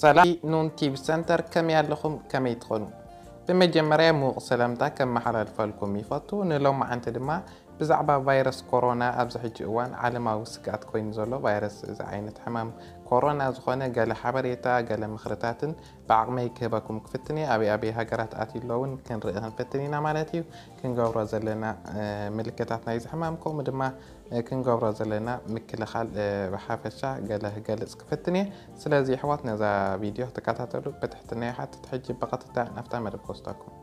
ሰላም ኑን ቲቪ ሰንተር፣ ከመይ ኣለኹም? ከመይ ትኾኑ? ብመጀመርያ ምዉቕ ሰላምታ ከመሓላልፈልኩም ይፈቱ። ንሎማዓንቲ ድማ ብዛዕባ ቫይረስ ኮሮና ኣብዚ ሕጂ እዋን ዓለማዊ ስግኣት ኮይኑ ዘሎ ቫይረስ፣ እዚ ዓይነት ሕማም ኮሮና ዝኾነ ገለ ሓበሬታ፣ ገለ ምኽርታትን ብዓቕመይ ክህበኩም ክፍትን እየ። ኣበይ ኣበይ ሃገራት ኣትዩ ኣሎ እውን ክንርኢ ክንፍትን ኢና ማለት እዩ። ክንገብሮ ዘለና ምልክታት ናይዚ ሕማም ከምኡ ድማ ክንገብሮ ዘለና ምክልኻል ብሓፈሻ ገለ ክገልጽ ክፍትን እየ። ስለዚ ኣሕዋት ነዛ ቪድዮ ክትከታተሉ ብትሕትና ይሓትት። ሕጂ ብቐጥታ ናብታ መደብ ክወስደኩም።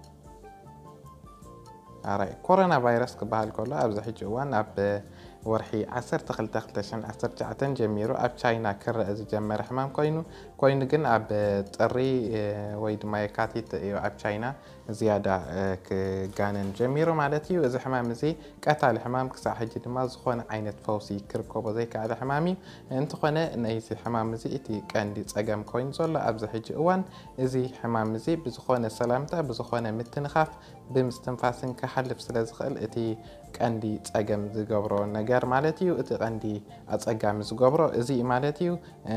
ኣራይ ኮሮና ቫይረስ ክበሃል ከሎ ኣብዚ ሕጂ እዋን ኣብ ወርሒ ዓሰርተ ክልተ ክልተ ሽሕን ዓሰርተ ትሽዓተን ጀሚሩ ኣብ ቻይና ክረአ ዝጀመረ ሕማም ኮይኑ ኮይኑ ግን ኣብ ጥሪ ወይ ድማ የካቲት እዩ ኣብ ቻይና ዝያዳ ክጋነን ጀሚሩ ማለት እዩ። እዚ ሕማም እዚ ቀታሊ ሕማም ክሳዕ ሕጂ ድማ ዝኾነ ዓይነት ፈውሲ ክርከቦ ዘይከኣለ ሕማም እዩ። እንተኾነ ናይዚ ሕማም እዚ እቲ ቀንዲ ጸገም ኮይኑ ዘሎ ኣብዚ ሕጂ እዋን እዚ ሕማም እዚ ብዝኾነ ሰላምታ ብዝኾነ ምትንኻፍ ብምስትንፋስን ክሓልፍ ስለ ዝኽእል እቲ ቀንዲ ጸገም ዝገብሮ ነገር ማለት እዩ። እቲ ቀንዲ ኣጸጋሚ ዝገብሮ እዚ እዩ ማለት እዩ።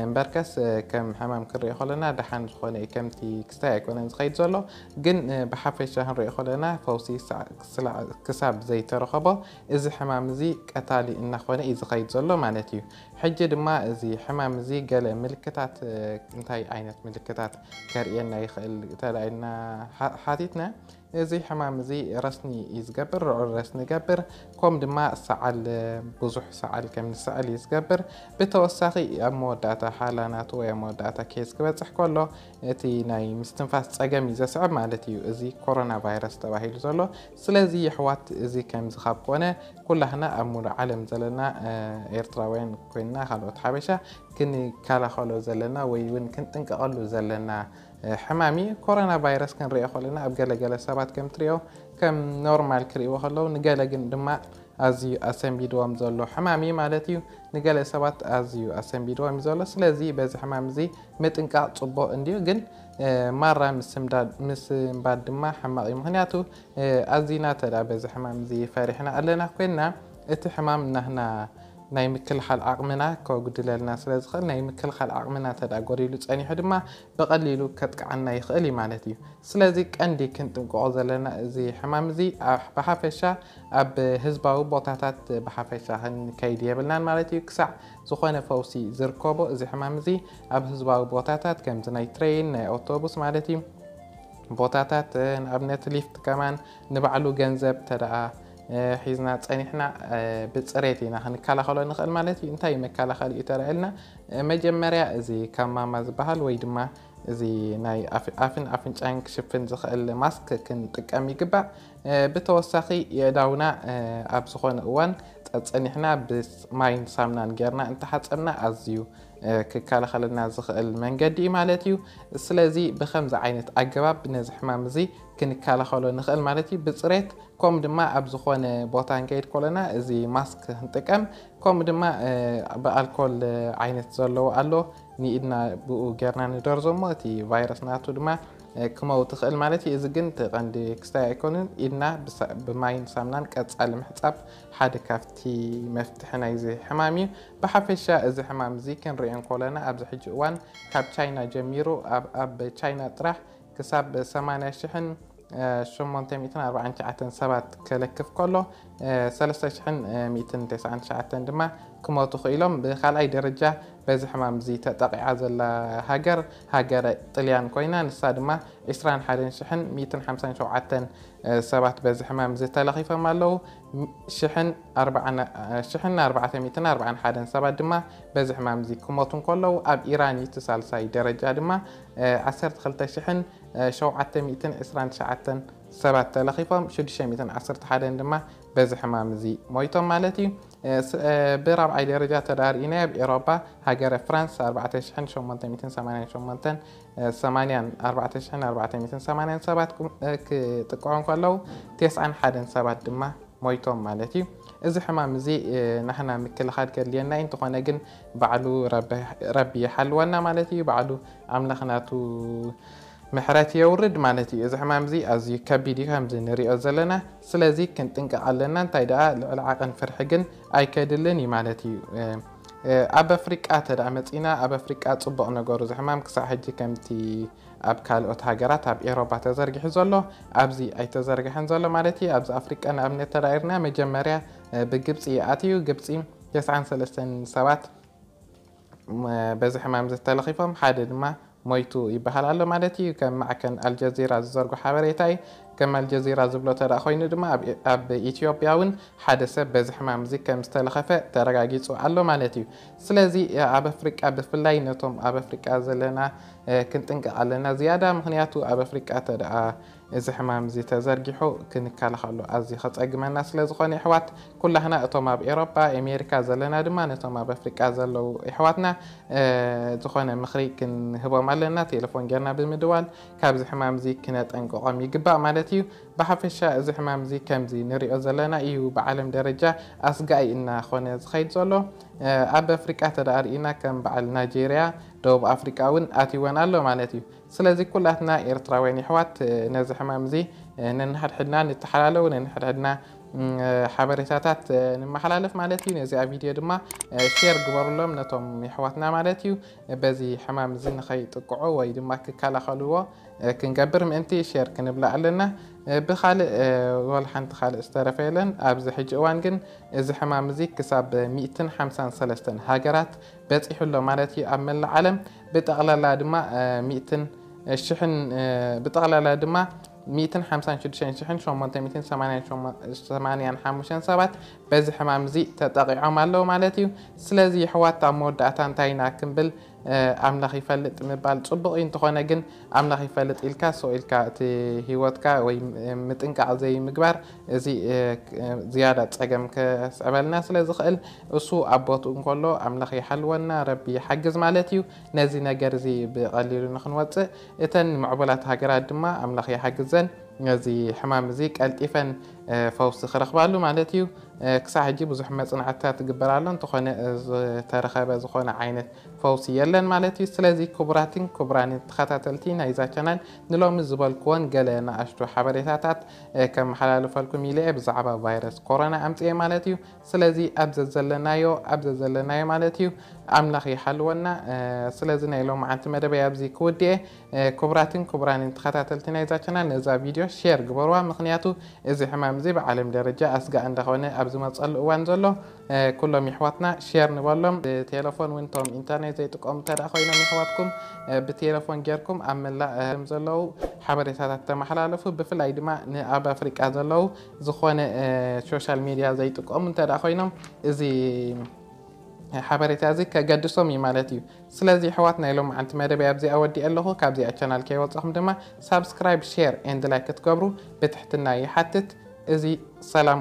እምበርከስ ከም ሕማም ክንሪኦ ከለና ደሓን ዝኾነ እዩ፣ ከምቲ ክስታይ ኣይኮነን ዝኸይድ ዘሎ። ግን ብሓፈሻ ክንሪኦ ከለና ፈውሲ ክሳብ ዘይተረኸቦ እዚ ሕማም እዚ ቀታሊ እናኾነ እዩ ዝኸይድ ዘሎ ማለት እዩ። ሕጂ ድማ እዚ ሕማም እዚ ገለ ምልክታት፣ እንታይ ዓይነት ምልክታት ከርእየና ይኽእል ተላኢልና ሓቲትና፣ እዚ ሕማም እዚ ረስኒ እዩ ዝገብር፣ ልዑል ረስኒ ይገብር። ከም ድማ ሰዓል፣ ብዙሕ ሰዓል ከም ንስዕል እዩ ዝገብር። ብተወሳኺ ኣብ መወዳእታ ሓላ ናቱ ወይ ኣብ መወዳእታ ኬዝ ክበፅሕ ከሎ እቲ ናይ ምስትንፋስ ፀገም እዩ ዘስዕብ ማለት እዩ። እዚ ኮሮና ቫይረስ ተባሂሉ ዘሎ። ስለዚ የሕዋት እዚ ከምዚ ካብ ኮነ ኩላህና ኣብ ሙሉእ ዓለም ዘለና ኤርትራውያን ኮይንና ካልኦት ሓበሻ ክንከላኸሎ ዘለና ወይ እውን ክንጥንቀቐሉ ዘለና ሕማም እዩ። ኮሮና ቫይረስ ክንሪኦ ከለና ኣብ ገለገለ ሰባት ከም ትሪኦ ከም ኖርማል ክሪእዎ ከለዉ ንገለ ግን ድማ ኣዝዩ ኣሰንቢድዎም ዘሎ ሕማም እዩ ማለት እዩ። ንገለ ሰባት ኣዝዩ ኣሰንቢድዎም እዩ ዘሎ። ስለዚ በዚ ሕማም እዚ ምጥንቃቕ ጽቡቕ እንድዩ፣ ግን ማራ ምስንባድ ድማ ሕማቕ እዩ። ምኽንያቱ ኣዚና ተዳ በዚ ሕማም እዚ ፈሪሕና ኣለና ኮይንና እቲ ሕማም ናህና ናይ ምክልኻል ዓቕምና ከጉድለልና ስለ ዝኽእል ናይ ምክልኻል ዓቕምና ተዳ ጎዲሉ ጸኒሑ ድማ ብቐሊሉ ከጥቅዓና ይኽእል እዩ ማለት እዩ። ስለዚ ቀንዲ ክንጥንቀቖ ዘለና እዚ ሕማም እዚ ብሓፈሻ ኣብ ህዝባዊ ቦታታት ብሓፈሻ ክንከይድ የብልናን ማለት እዩ። ክሳዕ ዝኾነ ፈውሲ ዝርከቦ እዚ ሕማም እዚ ኣብ ህዝባዊ ቦታታት ከምዚ ናይ ትሬን ናይ ኣውቶቡስ ማለት እዩ ቦታታት ንኣብነት ሊፍት ከማን ንባዕሉ ገንዘብ ተደኣ ሒዝና ጸኒሕና ብፅሬት ኢና ክንከላኸሎ ንኽእል ማለት እዩ። እንታይ መከላኸሊ እዩ ተረእልና? መጀመርያ እዚ ካብ ማማ ዝበሃል ወይ ድማ እዚ ናይ ኣፍን ኣፍንጫን ክሽፍን ዝኽእል ማስክ ክንጥቀም ይግባእ። ብተወሳኺ የእዳውና ኣብ ዝኾነ እዋን ጸጸኒሕና ብማይን ሳምናን ጌርና እንተሓጸብና ኣዝዩ ክከላኸለና ዝኽእል መንገዲ እዩ ማለት እዩ። ስለዚ ብኸምዚ ዓይነት ኣገባብ ነዚ ሕማም እዚ ክንከላኸሎ ንኽእል ማለት እዩ። ብፅሬት ከምኡ ድማ ኣብ ዝኾነ ቦታ ንከይድ ከለና እዚ ማስክ ክንጥቀም ከምኡ ድማ ብኣልኮል ዓይነት ዘለዎ ኣሎ ንኢድና ብኡ ጌርና ንደርዞ እሞ እቲ ቫይረስ ናቱ ድማ ክመው ትኽእል ማለት እዩ። እዚ ግን እቲ ቀንዲ ክስታይ ኣይኮንን። ኢድና ብማይን ሳምናን ቀጻሊ ምሕጻብ ሓደ ካብቲ መፍትሒ ናይዚ ሕማም እዩ። ብሓፈሻ እዚ ሕማም እዚ ክንሪኦ እንከለና ኣብዚ ሕጂ እዋን ካብ ቻይና ጀሚሩ ኣብ ቻይና ጥራሕ ክሳብ ሰማንያ ሽሕን ሸሞንተ ሚእትን ኣርባዓን ትሽዓተን ሰባት ከለክፍ ከሎ ሰለስተ ሽሕን ሚእትን ተስዓን ትሽዓተን ድማ ክሞቱ ክኢሎም። ብካልኣይ ደረጃ በዚ ሕማም እዚ ተጠቂዓ ዘላ ሃገር ሃገረ ጥልያን ኮይና ንሳ ድማ ዕስራን ሓደን ሽሕን ሚእትን ሓምሳን ሸውዓተን ሰባት በዚ ሕማም እዚ ተለኺፎም ኣለዉ። ሽሕን ኣርባዓን ሽሕን ኣርባዕተ ሚእትን ኣርባዓን ሓደን ሰባት ድማ በዚ ሕማም እዚ ክሞቱ እንከለዉ ኣብ ኢራን እዩ እቲ ሳልሳይ ደረጃ ድማ ዓሰርተ ክልተ ሽሕን ሸውዓተ ሚእትን ዕስራን ትሽዓተን ሰባት ተለኺፎም ሽዱሽተ ሚእትን ዓሰርተ ሓደን ድማ በዚ ሕማም እዚ ሞይቶም ማለት እዩ። ብራብዓይ ደረጃ ተዳርኢና ኣብ ኤሮፓ ሃገረ ፍራንስ ኣርባዕተ ሽሕን ሸሞንተ ሚእትን ሰማንያን ሸሞንተን ሰማንያን ኣርባዕተ ሽሕን ኣርባዕተ ሚእትን ሰማንያን ሰባት ክጥቅዑ እንከለዉ ተስዓን ሓደን ሰባት ድማ ሞይቶም ማለት እዩ። እዚ ሕማም እዚ ናህና ምክልኻል ከድልየና እዩ። እንተኾነ ግን ባዕሉ ረቢ ይሓልወና ማለት እዩ። ባዕሉ ኣምላኽ ናቱ ምሕረት የውርድ ማለት እዩ። እዚ ሕማም እዚ ኣዝዩ ከቢድ እዩ ከምዚ ንሪኦ ዘለና። ስለዚ ክንጥንቀቕ ኣለና። እንታይ ደኣ ልዕሊ ዓቐን ፍርሒ ግን ኣይከድልን እዩ ማለት እዩ። ኣብ ኣፍሪቃ ተደኣ መጺና፣ ኣብ ኣፍሪቃ ጽቡቕ ነገሩ፣ እዚ ሕማም ክሳዕ ሕጂ ከምቲ ኣብ ካልኦት ሃገራት ኣብ ኤሮፓ ተዘርጊሑ ዘሎ ኣብዚ ኣይተዘርግሐን ዘሎ ማለት እዩ። ኣብዚ ኣፍሪቃ ንኣብነት ተዳኢርና፣ መጀመርያ ብግብፂ ኣትዩ። ግብፂ ተስዓን ሰለስተን ሰባት በዚ ሕማም ዝተለኺፎም፣ ሓደ ድማ ሞይቱ ይበሃል ኣሎ ማለት እዩ። ከም ማዕከን ኣልጀዚራ ዝዘርጎ ሓበሬታ እዩ። ከም ኣልጀዚራ ዝብሎ ተደኣ ኮይኑ ድማ ኣብ ኢትዮጵያ እውን ሓደ ሰብ በዚ ሕማም እዚ ከም ዝተለኸፈ ተረጋጊፁ ኣሎ ማለት እዩ። ስለዚ ኣብ ኣፍሪቃ ብፍላይ ነቶም ኣብ ኣፍሪቃ ዘለና ክንጥንቀቕ ኣለና ዝያዳ። ምክንያቱ ኣብ ኣፍሪቃ ተደኣ እዚ ሕማም እዚ ተዘርጊሑ ክንከላኸሎ ኣዝዩ ከጸግመና ስለ ዝኾነ፣ የሕዋት ኩላህና እቶም ኣብ ኤሮፓ፣ ኣሜሪካ ዘለና ድማ ነቶም ኣብ ኣፍሪቃ ዘለዉ የሕዋትና ዝኾነ ምኽሪ ክንህቦም ኣለና። ቴሌፎን ጌርና ብምድዋል ካብዚ ሕማም እዚ ክነጠንቅቖም ይግባእ ማለት እዩ። ብሓፈሻ እዚ ሕማም እዚ ከምዚ ንሪኦ ዘለና እዩ ብዓለም ደረጃ ኣስጋኢ እናኾነ ዝኸይድ ዘሎ። ኣብ ኣፍሪቃ ተደኣ ርኢና ከም በዓል ናይጄርያ፣ ደቡብ ኣፍሪቃ እውን ኣትይወን ኣሎ ማለት እዩ። ስለዚ ኩላትና ኤርትራውያን የሕዋት ነዚ ሕማም እዚ ነንሕድሕድና ንተሓላለዉ፣ ነንሕድሕድና ሓበሬታታት ንመሓላለፍ ማለት እዩ። ነዚኣ ቪድዮ ድማ ሼር ግበሩሎም ነቶም የሕዋትና ማለት እዩ። በዚ ሕማም እዚ ንኸይጥቅዑ ወይ ድማ ክከላኸልዎ ክንገብር ምእንቲ ሼር ክንብላ ኣለና። ብኻልእ ወላ ሓንቲ ካልእ ዝተረፈ የለን። ኣብዚ ሕጂ እዋን ግን እዚ ሕማም እዚ ክሳብ ሚእትን ሓምሳን ሰለስተን ሃገራት በፂሑ ኣሎ ማለት እዩ ኣብ መላእ ዓለም። ብጠቕላላ ድማ ሚእትን ሽሕን ብጠቕላላ ድማ ሚእትን ሓምሳን ሽዱሽተን ሽሕን ሸሞንተ ሚእትን ሰማንያን ሓሙሽተን ሰባት በዚ ሕማም እዚ ተጠቒዖም ኣለዉ ማለት እዩ። ስለዚ የሕዋት ኣብ መወዳእታ እንታይ ኢና ክንብል ኣምላኽ ይፈልጥ ምባል ጽቡቕ እዩ። እንተኾነ ግን ኣምላኽ ይፈልጥ ኢልካ ስቕ ኢልካ እቲ ህይወትካ ወይ ምጥንቃቕ ዘይምግባር እዚ ዝያዳ ጸገም ከስዕበልና ስለ ዝኽእል እሱ ኣብ ቦትኡ እንከሎ ኣምላኽ ይሓልወና፣ ረቢ ይሓግዝ ማለት እዩ። ነዚ ነገር እዚ ብቐሊሉ ንኽንወጽእ እተን ምዕቡላት ሃገራት ድማ ኣምላኽ ይሓግዘን ነዚ ሕማም እዚ ቀልጢፈን ፈውሲ ክረኽባሉ ማለት እዩ። ክሳዕ ሕጂ ብዙሕ መጽናዕትታት ይግበር ኣሎ፣ እንተኾነ ዝተረኸበ ዝኾነ ዓይነት ፈውሲ የለን ማለት እዩ። ስለዚ ክቡራትን ክቡራንን ተኸታተልቲ ናይዛ ቻናል ንሎሚ ዝበልክዎን ገለ ንኣሽቱ ሓበሬታታት ከመሓላልፈልኩም ኢለ እየ ብዛዕባ ቫይረስ ኮሮና ኣምፅኤ ማለት እዩ። ስለዚ ኣብ ዘዘለናዮ ኣብ ዘዘለናዮ ማለት እዩ ኣምላኽ ይሓልወና። ስለዚ ናይ ሎማዓንቲ መደበይ ኣብዚ ክውድኤ። ክቡራትን ክቡራንን ተኸታተልቲ ናይዛ ቻናል ነዛ ቪድዮ ሼር ግበርዋ፣ ምክንያቱ እዚ ሕማም እዚ ብዓለም ደረጃ ኣስጋእ እንዳኾነ ኣብ ዝመፀሉ እዋን ዘሎ ኩሎም የሕዋትና ሼር ንበሎም። ብቴሌፎን እውን እቶም ኢንተርኔት ዘይጥቀሙ እንተ ደኣ ኮይኖም የሕዋትኩም ብቴሌፎን ጌርኩም ኣብ መላእ ዘለዉ ሓበሬታታት ተመሓላለፉ። ብፍላይ ድማ ንኣብ ኣፍሪቃ ዘለዉ ዝኾነ ሶሻል ሚድያ ዘይጥቀሙ እንተ ደኣ ኮይኖም እዚ ሓበሬታ እዚ ከገድሶም እዩ ማለት እዩ። ስለዚ ኣሕዋት ናይ ሎማዓንቲ መደበይ ኣብዚኣ ወዲኤ ኣለኹ። ካብዚኣ ቻናል ከይወፃኹም ድማ ሳብስክራይብ፣ ሼር ኤንድ ላይክ ክትገብሩ ብትሕትና ይሓትት። እዚ ሰላም